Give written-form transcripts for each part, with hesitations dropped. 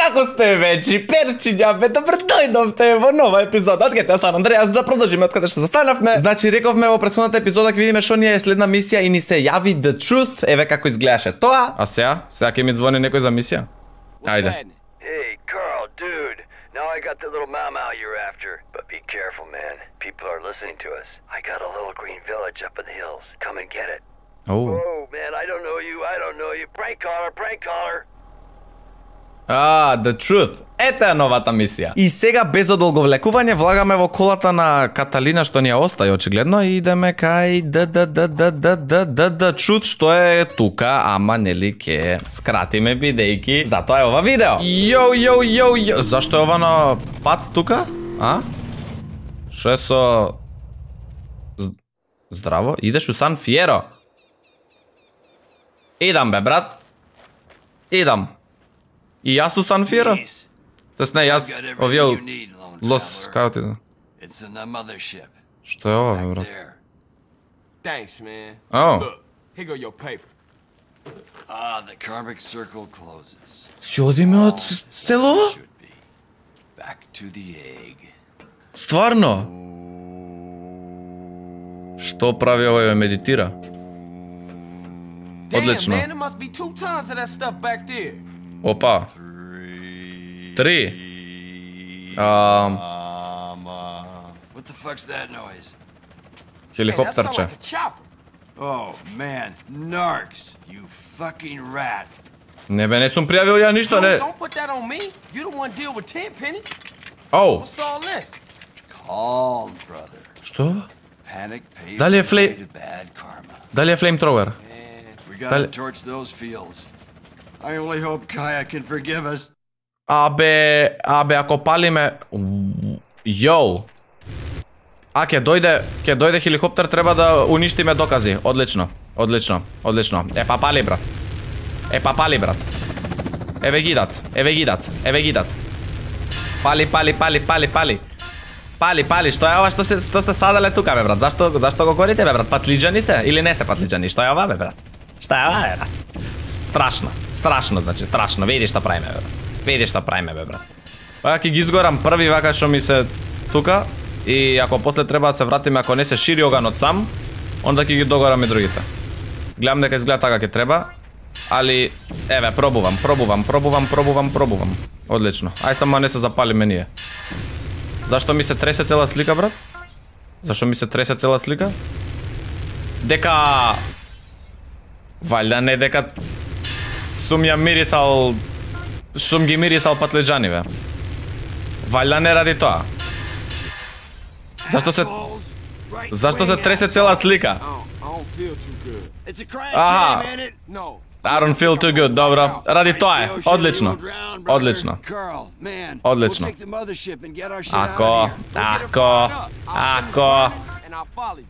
како сте вечи, перчиња, бе, добро дојдовте во нова епизода. Откаде Сан Андреас, да продолжиме откаде што застанавме. Значи, рековме во претходната епизода ќе видиме што ни е следна мисија и ни се јави The Truth. Еве како изгледаше тоа. А сега ќе ми звони некој за мисија? Ајде. Hey, Carl, dude. Now I got the little mau you're after. But be careful, man. People are listening to us. I got a little green village up in the hills. Come and get it. Oh. Whoa, man, I don't know you. Prank caller. The Truth. Ета е новата мисија. И сега без одолговлекување влагаме во колата на Каталина што ни ја остаи очигледно и идеме кај The Truth што е тука, ама нели ке скратиме бидејќи затоа е ова видео. Јо. Зашто е ова на пат тука? А? Шо е со... Здраво, идеш у Сан Фиеро? Идам бе, брат. Идам. И јас у Сан Фиеро? Тоест не, јас овие Лос... Као ти да? Што е ова, бе, брат? Thanks, man. Oh. Look, here go your paper. The karmic circle closes. Си одиме од село? Back to the egg. Стварно? Што прави овој, медитира? Одлично. Damn, man, there must be 2 tons of that stuff back there. Опа. 3. What the fuck's that noise? Hey, that sound Хеликоптерче. like a chopper. Oh, man. Narcs. You fucking rat. Не бе, не сум пријавил ја ништо, не. Don't put that on me. You the one deal with Tenpenny. Оу. What's all this? Calm, brother. Што? Panic pays Дали е the флей- way to bad karma. Дали е флеймтровер? We gotta torch those fields. I only hope Kaya can forgive us. Абе, ако палиме... Јоу. Ќе дојде хеликоптер, треба да уништиме докази. Одлично. Епа пали, брат. Еве гидат. Пали. Пали, што е ова што се садале тука, бе, брат? Зашто го корите, бе, брат? Патлиџани се или не се патлиџани? Што е ова, бе, брат? Страшно, значи, страшно. Види што правиме, бе, брат. Вака ќе ги изгорам први, вака што ми се тука, и ако после треба да се вратиме, ако не се шири оганот сам, онда ќе ги догорам и другите. Гледам дека изгледа така ќе треба, али, еве, пробувам. Одлично. Ај само не се запалиме ние. Зашто ми се тресе цела слика, брат? Дека... Валјда не дека... Сум ги мирисал патлиџани, бе. Валјда не ради тоа. Зашто се тресе цела слика? I don't feel too good. It's a crash Aha. jam, ain't it? No. I don't feel too good, добро. Ради тоа е. Одлично. Carl, man. Одлично. We'll take the mothership and get our shit out of here. Ако. And I'll follow you.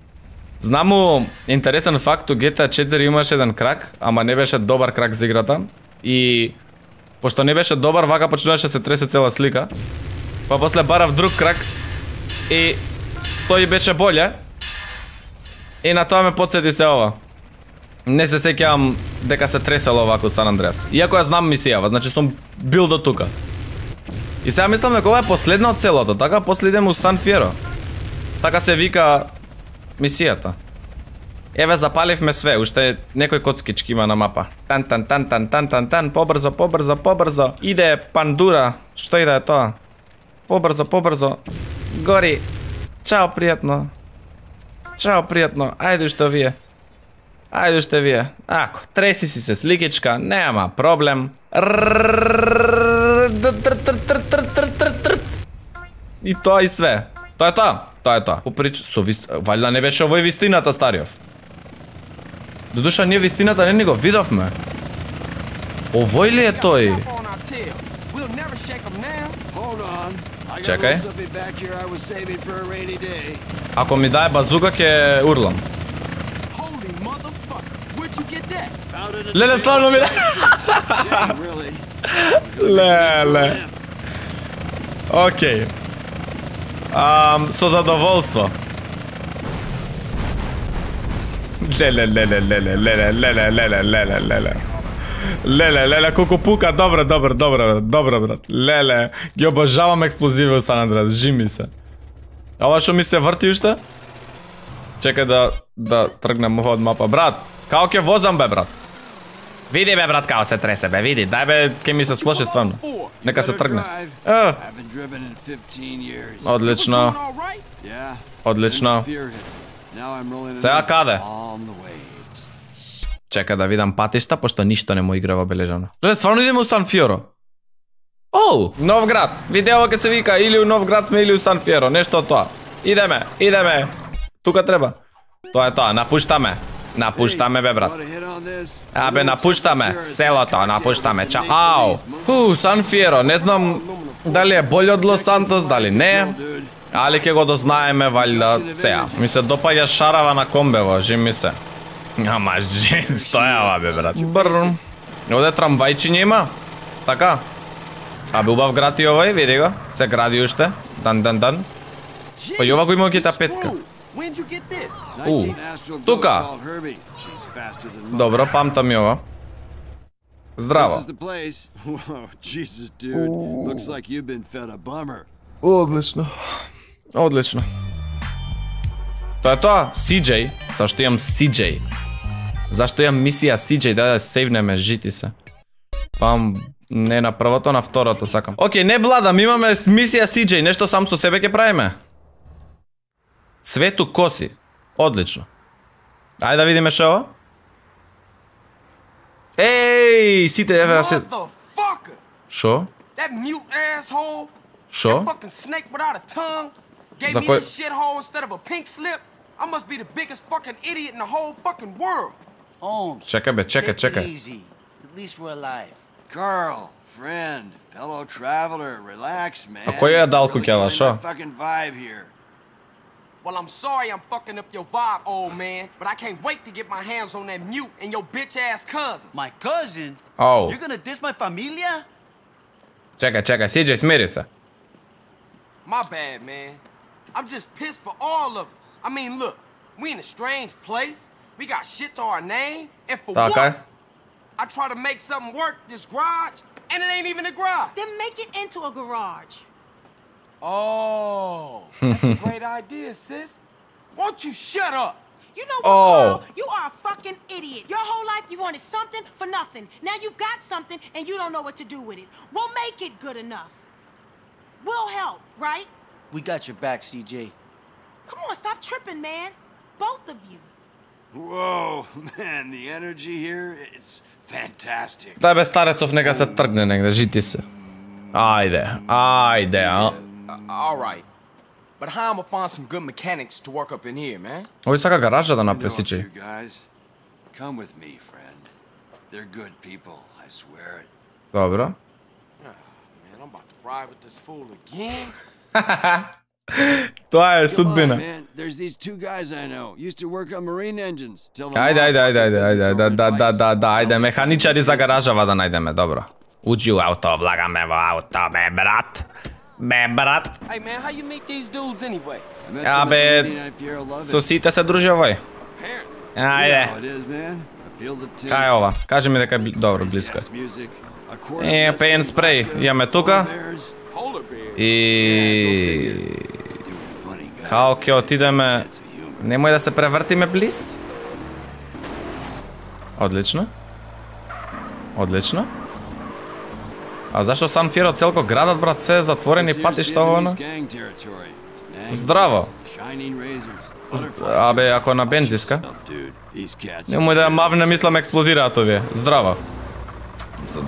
Знаму интересен факт, у GTA 4 имаше еден крак, ама не беше добар крак за играта. И пошто не беше добар, вака почнуваше се тресе цела слика. Па после барав друг крак и тој беше боле. И на тоа ме потсети се ова. Не се сеќавам дека се тресело вако Сан Андреас. Иако ја знам мисијава, значи сум бил до тука. И сега мислам дека ова е последна од целото, така после идем у Сан Фиеро. Така се вика мисијата. Еве запаливме све, уште некој коцкички има на мапа. Тан, побрзо. Иде Пандура, што иде тоа? Побрзо. Гори. Чао, пријатно. Ајде уште вие. Ако, треси си се сликичка, нема проблем. И тоа и све. Тоа е тоа. Валјда не беше овој вистината, Стариов. Додуша, ние вистината не ни го видовме. Овој ли е тој? Chopper on our tail. We'll never shake 'em now. Hold on. I got Чекај. something back here I was saving for a rainy day. Ако ми дае базука, ќе урлам. Holy motherfucker. Where'd you get that? Found it at Леле, славно ми да... Yeah, really. Леле. Океј. Со задоволство. Леле. Леле, колку пука, добро, брат. Леле, ги обожавам експлозиви у Сан Андреас, жими се. А ова што ми се врти уште? Чекај да тргнем од мапа. Брат, као ќе возам, бе, брат? Види, бе, брат, као се тресе, бе, види. Дај, бе, ке ми се сплоши стварно. Нека се тргне. Одлично. Одлично. Сега каде? Чека да видам патишта, пошто ништо не му игра обележано. Леле, стварно идеме у Сан Фиоро. Оу, Новград. Видео ке се вика или у Новград сме или у Сан Фиоро, нешто од тоа. Идеме. Тука треба. Тоа е тоа, напуштаме, бе, брат. Абе, напуштаме селото, напуштаме. Чао. Сан Фиоро, не знам дали е болј од Лос Сантос, дали не. Али ќе го дознаеме валјда сега. Ми се допаѓа шарава на комбево, жими се. Ама што е ова, бе, брат? Бррм. Оде трамвајчиње има? Така? Абе, убав град и овој, види го. Се гради уште. Дан. Па и ова го има гита петка. Тука. Добро, памтам и ова. Здраво. Одлично. Тоа е тоа, CJ. Зашто имам CJ? Зашто имам мисија CJ, да сейвнеме, жити се. Пам, не на првото, на второто сакам. Океј, не бладам, имаме мисија CJ, нешто сам со себе ќе правиме. Цвету коси. Одлично. Ајде да видиме шо ова. Еј, сите еве се. Шо? Шо? За кој? Чекај бе, чекај. Carl, friend, fellow traveler, relax, man. А кој е дал куќава, шо? Well, I'm sorry I'm fucking up your vibe, old man, but I can't wait to get my hands on that mute and your bitch-ass cousin. My cousin? Oh. You're gonna diss my familia? Чекај, CJ, смири се. My bad, man. I'm just pissed for all of us. I mean, look, we in a strange place. We got shit to our name, and for what? I try to make something work, this garage, and it ain't even a garage. Then make it into a garage. Oh, that's a great idea, sis. Won't you shut up? You know what, Carl? You are a fucking idiot. Your whole life you wanted something for nothing. Now you got something and you don't know what to do with it. We'll make it good enough. We'll help, right? We got your back, CJ. Come on, stop tripping, man. Both of you. Whoa, man, the energy here, it's fantastic. Дај бе старецов, нека се тргне негде, жити се. Ајде, а? All right. But how am I find some good mechanics to work up in here, man? Овој сака гаража да направи, You CJ. guys, come with me, friend. They're good people, I swear it. Добро. Man, I'm about to ride with this fool again. Тоа е Come on, судбина. man. There's these two guys I know. Used to work on marine engines. Ајде, механичари за гаражава да најдеме, добро. Уđi u auto, vлагаме во auto, бе, брат. Hey, man, how you meet these dudes anyway? Абе, со сите се дружи овој. Ајде. Кај е ова? Кажи ми дека добро, близко е. Пеен спреј, имаме тука. И као ќе отидеме, немој да се превртиме близ. Одлично. А зашто Сан Фиоро целко градот, брат, се затворени патишта овоно? Здраво. Абе, ако на бензиска. Немој да ја мавне, мислам експлодираат овие. Здраво.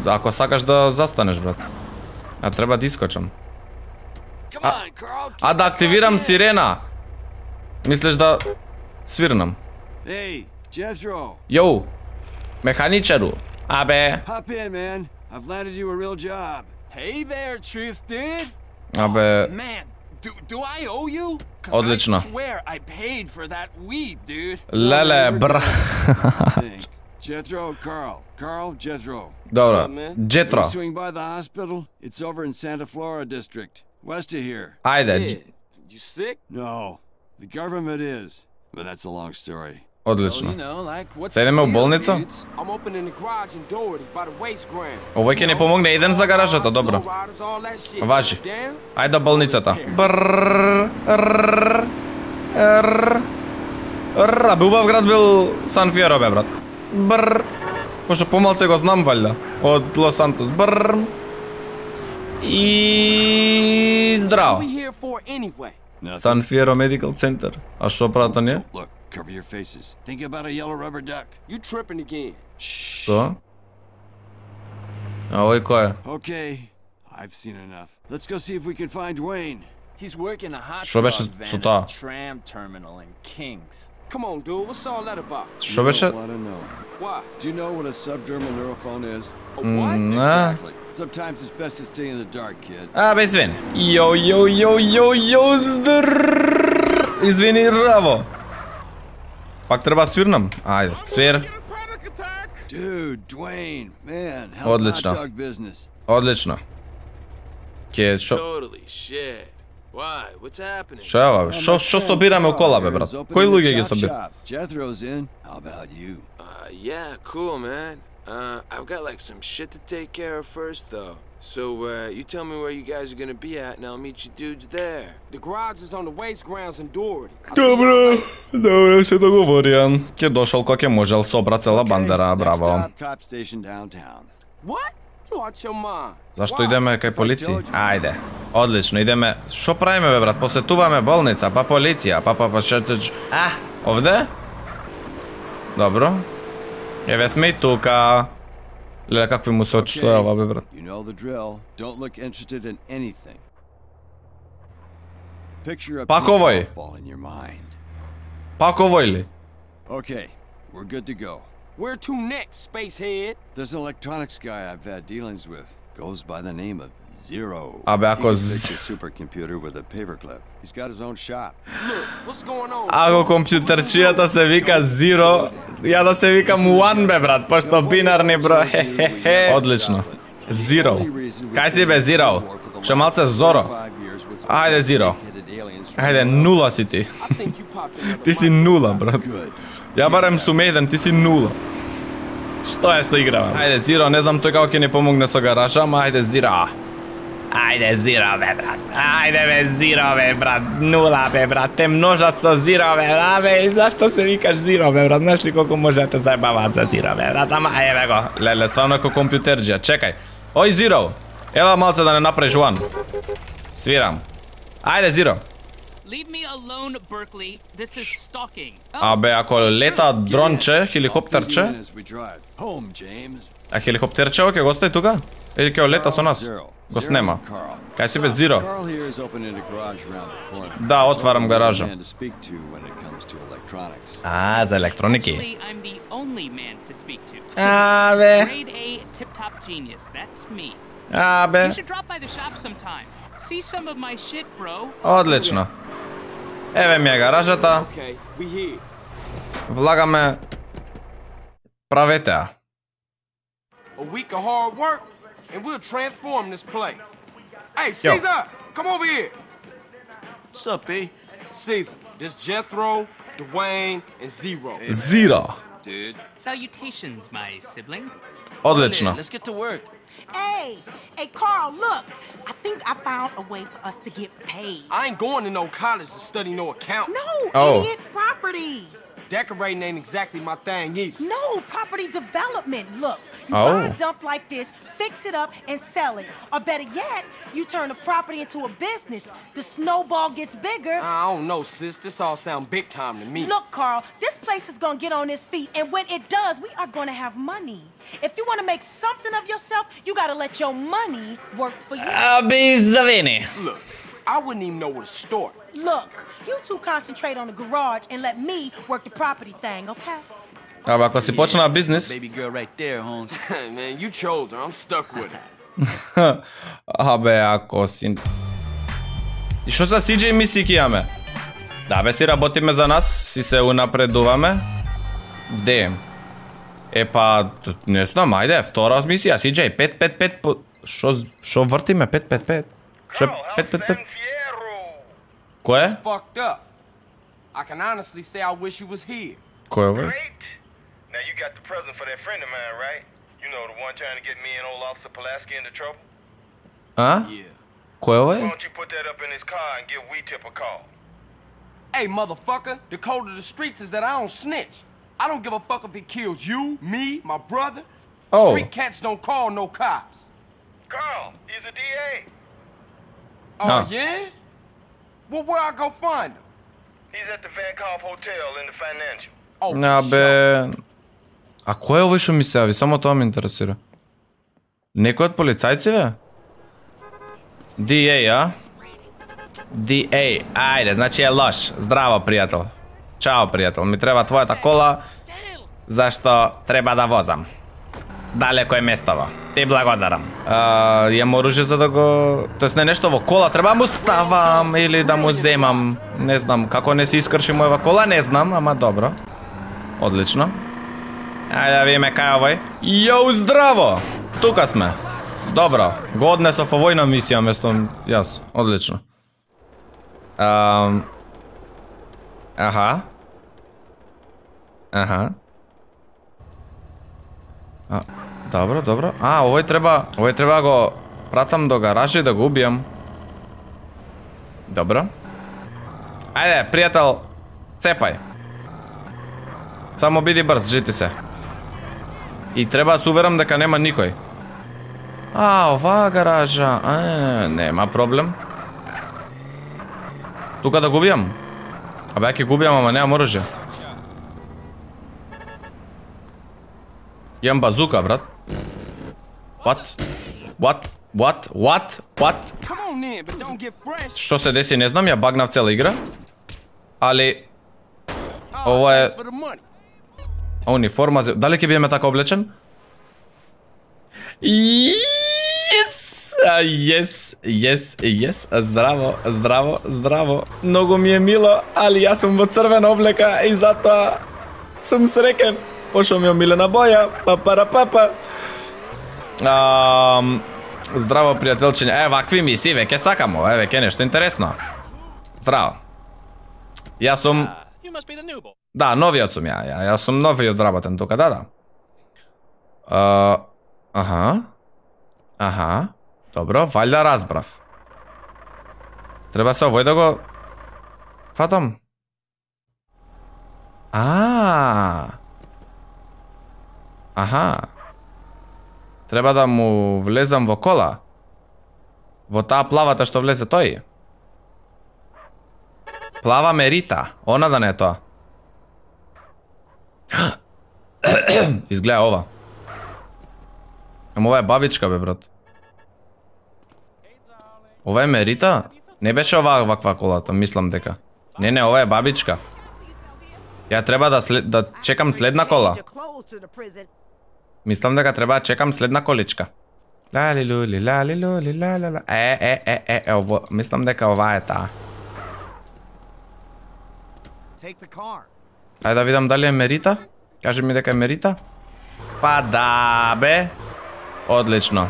Ако сакаш да застанеш, брат. А треба да искочам. А да активирам сирена. Мислиш да свирнам? Јоу, механичару. Абе. I've landed you a real job. Hey there, Truth, dude. Абе. Man, do I owe you? Одлично. I swear I paid for that weed, dude. Леле, бра. Jethro, Carl, Jethro. Добро. Джетро. Swing by the hospital. It's over in Santa Flora district, west of here. Ајде. You sick? No, the government is, but that's a long story. Одлично. Се идеме у болница? I'm opening the garage in Doherty by the waste ground. Овој ќе ни помогне еден за гаражата, добро. Важи. Ајде болницата. Бе убав град бил Сан Фиеро, бе, брат. Брр. Пошто помалце го знам, валјда. Од Лос Сантос. Брр. И здраво. Сан Фиеро Медикал Центар. А што прават оние? Cover your faces. Think about a yellow rubber duck. You tripping again. Што? А овој кој е? Okay, I've seen enough. Let's go see if we can find Dwayne. He's working a hot Што беше dog со van тоа? at the tram terminal in Kings. Come on, dude. What's all that about? Што беше? Want to know. Why? Do you know what a subdermal neurophone is? A what? Exactly. Sometimes it's best to stay in the dark, kid. А, бе, извини. Йо, здрррррр. Извини, раво. Пак треба свирнам? Ајде, свир. Dude, Dwayne, man, hell Одлично. hot dog business. Одлично. Ке, шо? Totally shit. Why? What's happening? Шо е ова? Шо собираме у кола, бе, брат? Кои луѓе ги собира? Jethro's in. How about you? Yeah, cool, man. I've got like some shit to take care of first, though. So, you tell me where you guys are gonna be at, and I'll meet you dudes there. The garage is on the waste grounds in Doherty. Добро, добро се договорија. Ке дошол кој ке можел собра цела бандера, браво. Next stop, cop station downtown. What? You out your mind. Зашто идеме кај полиција? Ајде. Одлично, идеме. Шо правиме, бе, брат? Посетуваме болница, па полиција, па шетеч. Овде? Добро. Еве сме и тука. Леле, какви му се очи, што е ова, бе, брат? You know the drill. Don't look interested in anything. Picture a Пак овој. ball in your mind. Пак овој ли? Okay, we're good to go. Where to next, spacehead? There's an electronics guy I've had dealings with. Goes by the name of Zero. Абе, ако He can fix your supercomputer with a paperclip. He's got his own shop. Look, what's going on? Ако компјутерчијата се вика Zero, ја да се викам One, бе, брат, пошто бинарни број. Одлично. Zero. Кај си, бе, Zero? Ше малце Зоро. Ајде, Zero. Ајде, нула си ти. I think you popped another Ти си нула, брат. Ја барем сум еден, ти си нула. Што е со играва? Ајде, Zero, не знам тој како ќе ни помогне со гаража, ама ајде, Zero. Ајде, Zero, бе, брат. Ајде, бе, Zero, бе, брат. Нула, бе, брат. Те множат со Zero, бе, абе, и зашто се викаш Zero, бе, брат? Знаеш ли колку може да те заебаваат за Zero, бе, брат? Ама, ајде, го. Леле, стварно како компјутерџија. Чекај. Ој, Zero. Ела малце да не направиш One. Свирам. Ајде, Zero. Leave me alone, Berkeley. This is stalking. Абе, ако лета дронче, хеликоптерче, As we drive home, James. а хеликоптерчево ќе го остави тука? Или ќе лета со нас? Го снема. Кај си бе, Zero? Carl here is opening a garage around the corner. Да, отварам гаража. Man to speak to when it comes to electronics. А, за електроники. Actually, I'm the only man to speak to. Абе, Grade A tip-top genius. That's me. абе. You should drop by the shop sometime. See some of my shit, bro. Одлично. Еве ми е гаражата. Okay, we here. Влагаме. Правете ја. A week of hard work, and we'll transform this place. Hey, Caesar, come over here. What's up, B? Caesar, this Jethro, Dwayne, and Zero. Zero. Dude. Salutations, my sibling. Одлично. Let's get to work. Hey, Carl, look. I think I found a way for us to get paid. I ain't going to no college to study no account. No, Oh. idiot, property. Decorating ain't exactly my thing either. No, property development. Look, you Oh. buy a dump like this, fix it up, and sell it. Or better yet, you turn the property into a business. The snowball gets bigger. I don't know, sis. This all sound big time to me. Look, Carl, this place is gonna get on its feet, and when it does, we are gonna have money. If you want to make something of yourself, you gotta let your money work for you. Аби, завини. Look, I wouldn't even know where to start. Look, you two concentrate on the garage and let me work the property thing, okay? Абе, ако си почнаа бизнес, Baby girl right there, Holmes. Man, you chose her. I'm stuck with her. абе, ако си... И што за CJ мисии ќе имаме? Да, бе, си работиме за нас, си се унапредуваме. Де? Епа, не знам, ајде, втора мисија, CJ, 5-5-5 по... Шо вртиме, 5-5-5? Шо е 5-5-5? Кој е? Fucked up. I can honestly say I wish you was here. Кој е овој? Great. Now you got the present for that friend of mine, right? You know, the one trying to get me and old Officer Pulaski into trouble? А? Yeah. Кој е Why овој? don't you put that up in his car and give Weetip a call? Hey, motherfucker, the code of the streets is that I don't snitch. I don't give a fuck if he kills you, me, my brother. Oh. Street cats don't call no cops. Carl, he's a DA. Oh, Ah. yeah? Well, where I go find him? He's at the Vankoff Hotel in the Financial. Oh, Абе... А кој е овој што ми се јави? Само тоа ме интересира. Некој од полицајци, DA, а? DA, ајде, значи е лош. Здраво, пријател. Чао, пријател. Ми треба твојата кола, зашто треба да возам. Далеко е местово. Ти благодарам. Јам оружје за да го... Тоест не нешто во кола, треба да му ставам или да му земам. Не знам, како не се искрши мојава кола, не знам, ама добро. Одлично. Ајде да видиме кај е овој. Јоу, здраво! Тука сме. Добро, го однесов овој на мисија место јас. Одлично. Аха. Аха. Добро, добро. Овој треба го пратам до гаража и да го убијам. Добро. Ајде, пријател, цепај. Само биди брз, жити се. И треба да се уверам дека нема никој. Оваа гаража. Нема проблем. Тука да го убијам? Абе, ќе го убијам, ама немам оружје. Имам базука, брат. What? Што се деси, не знам, ја багнав цела игра. Али... Ова е... Униформа... Дали ќе бидеме така облечен? Yes. Здраво. Многу ми е мило, али јас сум во црвена облека и затоа сум среќен. Пошто ми е милена боја. Папара. Здраво, пријателчиња. Вакви мисии веќе сакам, веќе нешто интересно. Здраво. Јас сум... Да, новиот сум ја. Јас сум новиот работен тука, да. Аха. Добро, валјда разбрав. Треба се овој да го... фатам. Аха. Треба да му влезам во кола. Во таа плавата што влезе тој. Плава Мерита. Она да не е тоа. Изгледа ова. Ама ова е бабичка, бе, брат. Ова е Мерита? Не беше ваква колата, мислам дека. Не, ова е бабичка. Ја треба да чекам следна кола. Мислам дека треба да чекам следна количка. Лали-лули, ла-ла-ла. Ово, мислам дека ова е таа. Ајде да видам дали е Мерита. Кажи ми дека е Мерита. Па да, бе. Одлично.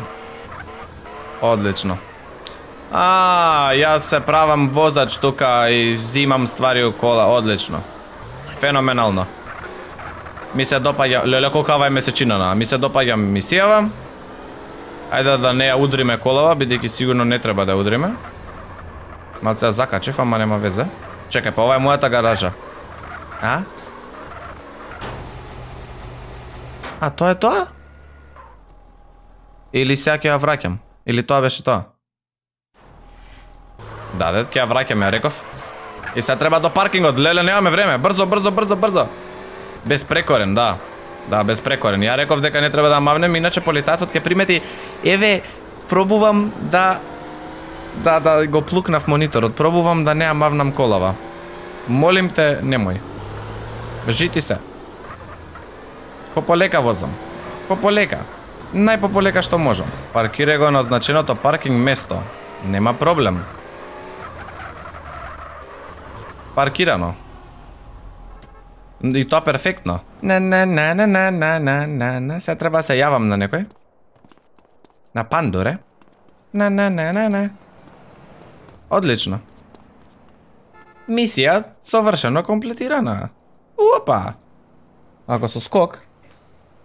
Јас се правам возач тука и зимам ствари у кола. Одлично. Феноменално. Ми се допаѓа, леле колкава е месечинана, ми се допаѓа мисијава. Ајде да не ја удриме колава, бидејќи сигурно не треба да ја удриме. Малце ја закачев, ама нема везе. Чекај, па ова е мојата гаража. Тоа е тоа? Или сега ќе ја враќам? Или тоа беше тоа? Да, ќе ја враќам, ја реков. И сега треба до паркингот, леле, немаме време, брзо. Безпрекорен, да. Да, безпрекорен. Ја реков дека не треба да мавнем, иначе полицајцот ќе примети, пробувам да го плукнав мониторот, пробувам да не ја мавнам колава. Молим те, немој. Жити се. Пополека возам. Пополека. Најпополека што можам. Паркирај го на означеното паркинг место. Нема проблем. Паркирано. И тоа перфектно. Се треба да се јавам на некој. На Пандоре. Одлично. Мисија совршено комплетирана. Опа. Ако со скок?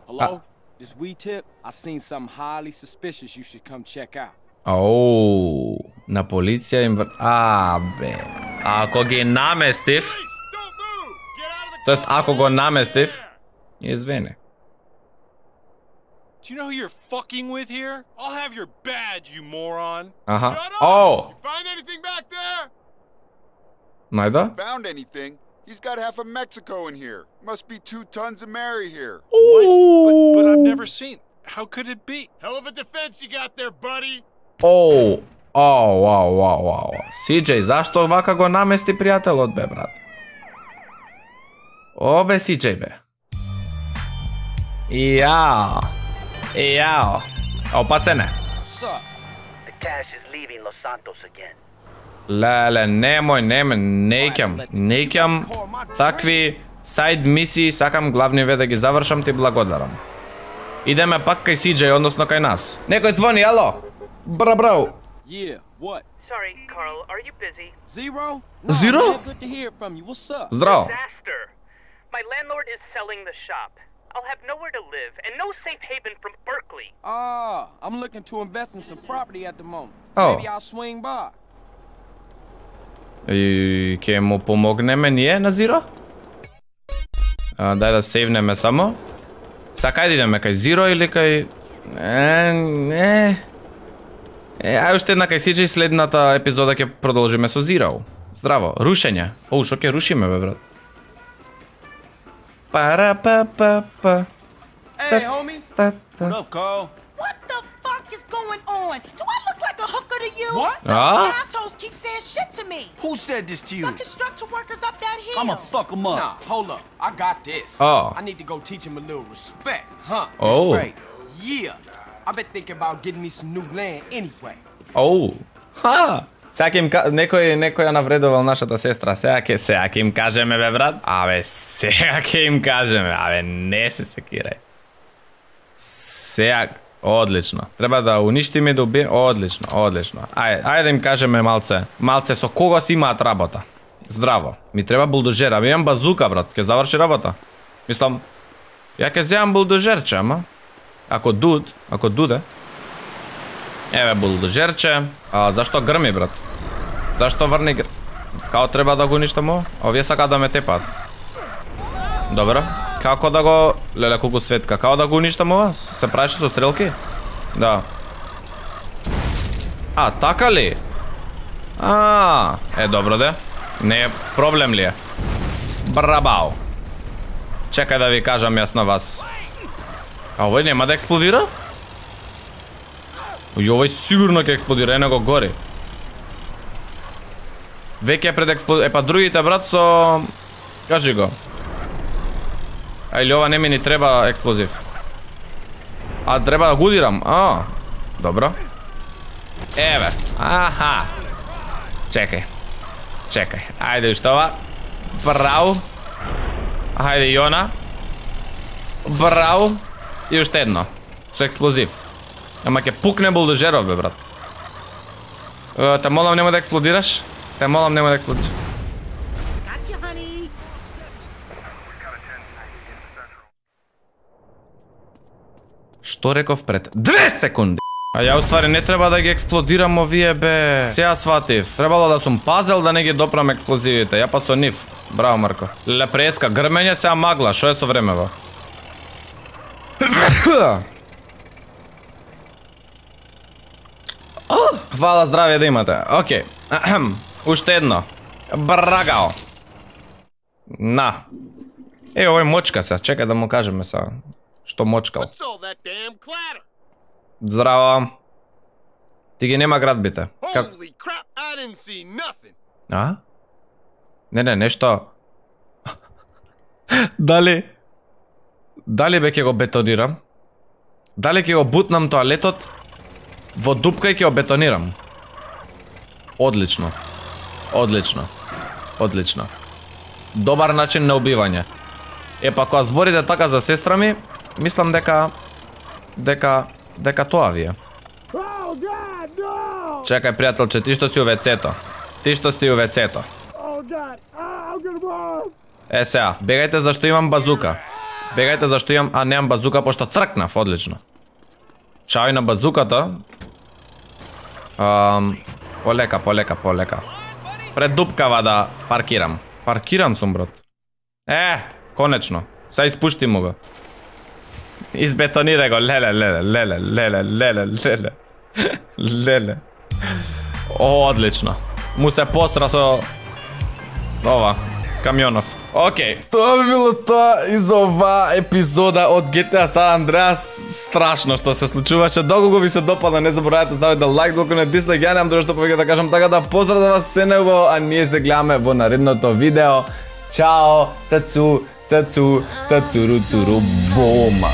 Hello? This weed tip? I seen something highly suspicious you should come check out. Оу, на полиција им бе. Ако ги наместив, тоест ако го наместив, извини. Do you know who you're fucking with here? I'll have your badge, you moron. Аха. Shut up! Oh. You find anything back there? Најда? Found anything? He's got half of Mexico in here. Must be 2 tons of Mary here. What? But I've never seen. How could it be? Hell of a defense you got there, buddy. Оу. Вау. CJ, зашто вака го намести пријателот бе, брат? О бе, CJ бе. Јао. Опасене. The cash is leaving Los Santos again. Леле, немој, неќам такви сайд мисии, сакам главниве да ги завршам, ти благодарам. Идеме пак кај CJ, односно кај нас. Некој звони, ало? Браво. Yeah, what? Sorry, Carl, are you busy? Zero? Zero? Man, good to hear from you. What's up? Здраво. Disaster. My landlord is selling the shop. I'll have nowhere to live and no safe haven from Berkeley. I'm looking to invest in some property at the moment. Oh. Maybe I'll swing by. И ќе му помогнеме ние на Зиро? Дај да сейвнеме само. Сакај да идеме кај Зиро или кај... Ај уште една кај CJ, следната епизода ќе продолжиме со Зиро. Здраво, рушење. Оу, шо ќе рушиме бе, брат? Пара-па-па-па. Hey, homies. What up, Carl? What the fuck is going on? Do I look like a hooker to you? What? Those assholes keep saying shit to me. Who said this to you? The construction workers up that hill. I'ma fuck them up. Nah, hold up. I got this. Oh. I need to go teach him a little respect, huh? Oh. Right. Yeah. I've been thinking about getting me some new land anyway. Оу. Ха! Сега им некој ја навредувал нашата сестра. Сега ќе им кажеме бе, брат. Сега ќе им кажеме. Не се секирај. Сега одлично. Треба да уништиме, да убиеме. Одлично. Ајде да им кажеме малце со кого си имаат работа. Здраво. Ми треба булдожер. Имам базука, брат. Ќе заврши работа. Мислам, ја ќе земам булдожерче, ама. Ако дуде. Еве булдожерче. Зашто грми, брат? Зашто врни грми? Као треба да го уништам? Овие сака да ме тепат. Добро. Како да го... Леле, колку светка. Као да го уништам ова? Се правише со стрелки? Да. Така ли? Добро де. Не е проблем ли е? Брабао. Чекај да ви кажам јас на вас. Овој нема да експлодира? Овој сигурно ќе експлодира, ено го гори. Веќе пред експлодира. Па другите, брат, со... Кажи го. Или ова не ми ни треба експлозив. Треба да го удирам. Добро. Еве. Аха. Чекај. Ајде уште ова. Браво. Ајде Јона. Браво. И уште едно. Со експлозив. Ама ќе пукне булдожеров, бе, брат. Те молам нема да експлодираш. Што реков пред 2 секунди? Ја уствари не треба да ги експлодирам овие, бе. Сега сватив. Требало да сум пазел да не ги допрам експлозивите. Ја па со нив. Браво, Марко. Леле, преска. Грмење, сега магла. Шо е со времево? Фала, здравје да имате. Океј. Уште едно. Брагао. На. Овој мочка се. Чекај да му кажеме сега. Што мочкал? Здраво. Ти ги нема градбите. Не, нешто. Дали бе ќе го бетонирам? Дали ќе го бутнам тоалетот? Во дупка и ќе го бетонирам. Одлично. Добар начин на убивање. Па кога зборите така за сестра ми, мислам дека тоа ви е. Чекај, пријателче, ти што си у вецето. Сега, бегајте зашто имам базука. Бегајте зашто имам, а немам базука пошто цркнав, одлично. Чао и на базуката. Полека. Пред дупкава да паркирам. Паркиран сум, брат. Конечно. Са испушти му го. Избетонира го, леле. Одлично. Му се постра со ова, камионов. Океј, тоа би било тоа из ова епизода од GTA San Andreas. Страшно што се случуваше. Доколку ви се допадна, не заборавајте ставите лайк, доколку не дислайк, ја немам друго што повеќе да кажам, така да поздрав да вас се него, а ние се гледаме во наредното видео. Чао, цацу, цацуру, бома.